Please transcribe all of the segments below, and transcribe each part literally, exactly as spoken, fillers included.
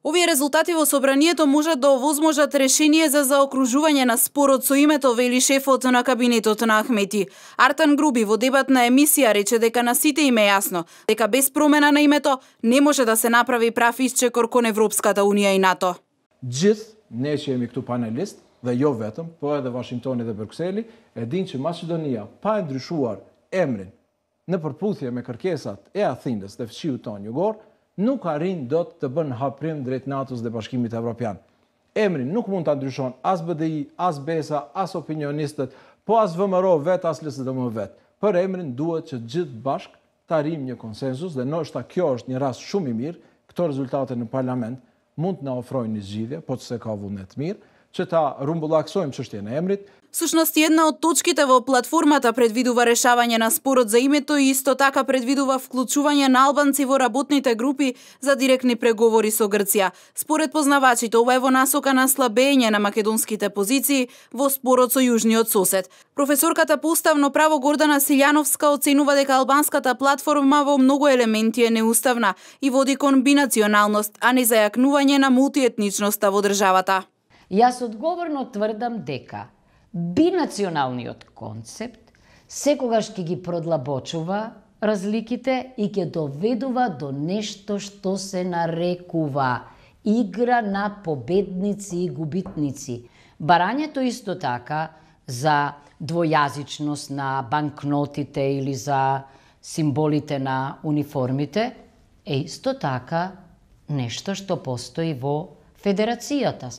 Овие резултати во собранието можат да овозможат решение за заокружување на спорот со името, вели шефот на кабинетот на Ахмети. Артан Груби во дебатна емисија рече дека на сите им е јасно дека без промена на името не може да се направи прав исчекор кон Европската унија и НАТО. Gjithë ne që jemi këtu panelist dhe jo vetëm, po edhe Washingtoni dhe Brukseli, e din që Maqedonia pa e ndryshuar emrin në përputhje me kërkesat e Athinës dhe fshiut tonë jugor, nuk arrin dot të bën haprim drejt NATO-s dhe Bashkimit Evropian. Emrin nuk mund ta ndryshon as B D I, as BESA, as opinionistët, po as V M R O vet, as L S D M vet. Për emrin duhet që gjithë bashk të arrijmë një konsensus dhe ndoshta kjo është një rast shumë i mirë, këto rezultate në parlament mund të na ofrojnë një zgjidhje, po se ka vullnet mirë, që ta rumbullaksojmë çështjen e emrit. Сушност, една од точките во платформата предвидува решавање на спорот за името и исто така предвидува вклучување на албанци во работните групи за директни преговори со Грција. Според познавачите, ова е во насока на слабење на македонските позиции во спорот со јужниот сосед. Професорката по уставно право Гордана Силјановска оценува дека албанската платформа во многу елементи е неуставна и води кон бинационалност, а не зајакнување на мултиетничноста во државата. Јас одговорно тврдам дека бинационалниот концепт секогаш ќе ги продлабочува разликите и ќе доведува до нешто што се нарекува игра на победници и губитници. Барањето исто така за двојазичност на банкнотите или за символите на униформите е исто така нешто што постои во Федерацијата.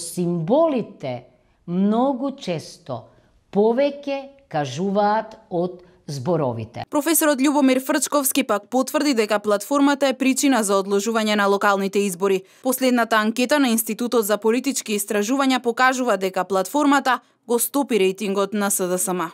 Символите многу често повеќе кажуваат од зборовите. Професорот Љубомир Фрчковски пак потврди дека платформата е причина за одложување на локалните избори. Последната анкета на Институтот за политички истражувања покажува дека платформата го стопи рейтингот на С D S M.